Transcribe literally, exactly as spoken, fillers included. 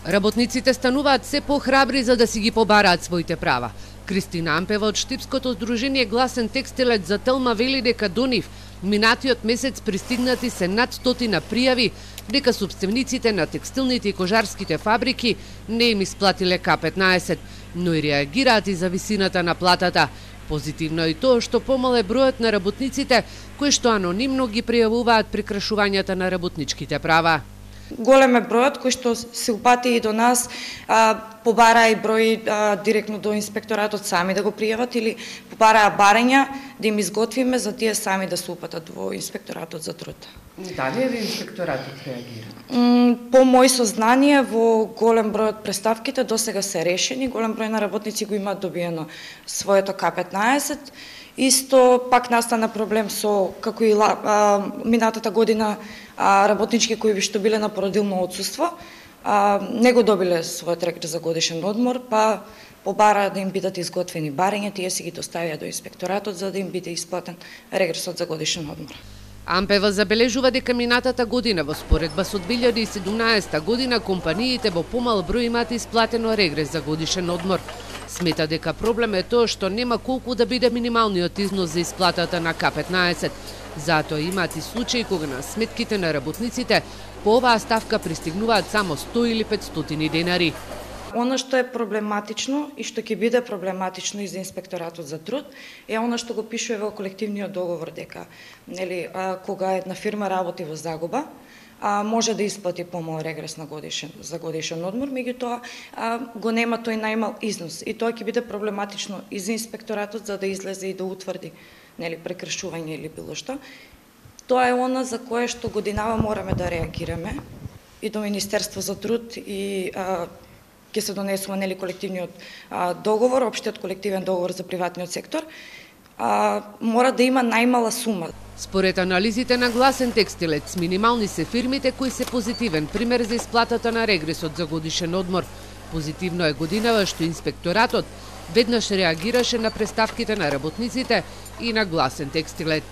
Работниците стануваат се похрабри за да си ги побараат своите права. Кристина Ампева од Штипското здружение Гласен текстилец за Телма вели дека до нив минатиот месец пристигнати се над стотина пријави дека собствениците на текстилните и кожарските фабрики не им исплатиле К петнаесет, но и реагираат и за висината на платата. Позитивно е и тоа што помал е бројот на работниците кои што анонимно ги пријавуваат прекрашувањата на работничките права. Голем е бројот кој што се упати и до нас, а, побара и број а, директно до инспекторатот сами да го пријават или побараа барања да им изготвиме за тие сами да се упатат во инспекторатот за труд. Дали е инспекторатот реагира? По мој сознание, во голем број од преставките досега се решени, голем број на работници го имаат добиено своето К петнаесет. Исто пак настана проблем со, како и а, минатата година, а, работнички кои што биле на породилно отсуство, а, не го добиле својот регрес за годишен одмор, па побара да им бидат изготвени барања, тие си ги доставија до инспекторатот за да им биде исплатен регресот за годишен одмор. Ампева забележува дека минатата година во споредба со две илјади и седумнаесета година компаниите во помал број имаат исплатено регрес за годишен одмор. Смета дека проблем е тоа што нема колку да биде минималниот износ за исплатата на К петнаесет. Затоа имаат и случаи кога на сметките на работниците по оваа ставка пристигнуваат само сто или петстотини денари. Она што е проблематично и што ќе биде проблематично и за инспекторатот за труд е она што го пишува во колективниот договор дека, нели, а, кога една фирма работи во загуба, а, може да исплати помал регрес на годишен за годишен одмор, меѓутоа го нема тој најмал износ и тоа ќе биде проблематично и за инспекторатот за да излезе и да утврди, нели, прекршување или било што. Тоа е она за кое што годинава мораме да реагираме и до Министерство за труд и а, ќе се донесува, нели, колективниот а, договор, општиот колективен договор за приватниот сектор, а, мора да има најмала сума. Според анализите на Гласен текстилец, минимални се фирмите кои се позитивен пример за исплатата на регресот за годишен одмор. Позитивно е годинава што инспекторатот веднаш реагираше на преставките на работниците и на Гласен текстилец.